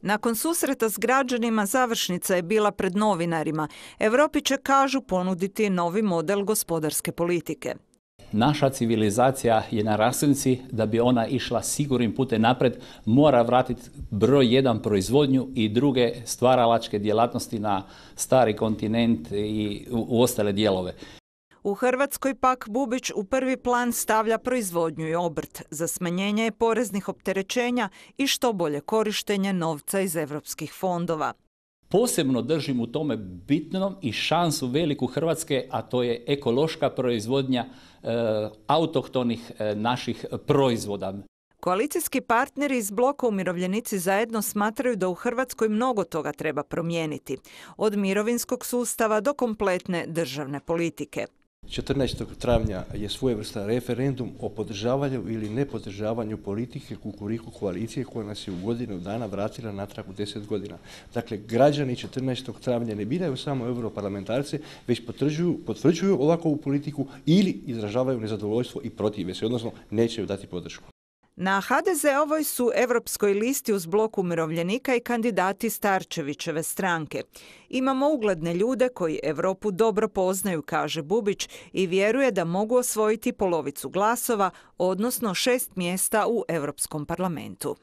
Nakon susreta s građanima završnica je bila pred novinarima. Europi će, kažu, ponuditi novi model gospodarske politike. Naša civilizacija je na raskrsnici, da bi ona išla sigurnim putem napred, mora vratiti broj 1 proizvodnju i druge stvaralačke djelatnosti na stari kontinent i u ostale dijelove. U Hrvatskoj pak Bubić u prvi plan stavlja proizvodnju i obrt za smanjenje poreznih opterećenja i što bolje korištenje novca iz europskih fondova. Posebno držim u tome bitnom i šansu veliku Hrvatske, a to je ekološka proizvodnja autohtonih naših proizvoda. Koalicijski partneri iz bloka Umirovljenici zajedno smatraju da u Hrvatskoj mnogo toga treba promijeniti, od mirovinskog sustava do kompletne državne politike. 14. travnja je svojevrstan referendum o podržavanju ili nepodržavanju politike Kukuriku koalicije koja nas je u godinu dana vratila natrag u 10 godina. Dakle, građani 14. travnja ne biraju samo europarlamentarce, već potvrđuju ovakvu politiku ili izražavaju nezadovoljstvo i protive se, odnosno neće joj dati podršku. Na HDZ-ovoj su europskoj listi uz blok Umirovljenika i kandidati Starčevićeve stranke. Imamo ugledne ljude koji Europu dobro poznaju, kaže Bubić, i vjeruje da mogu osvojiti polovicu glasova, odnosno 6 mjesta u Europskom parlamentu.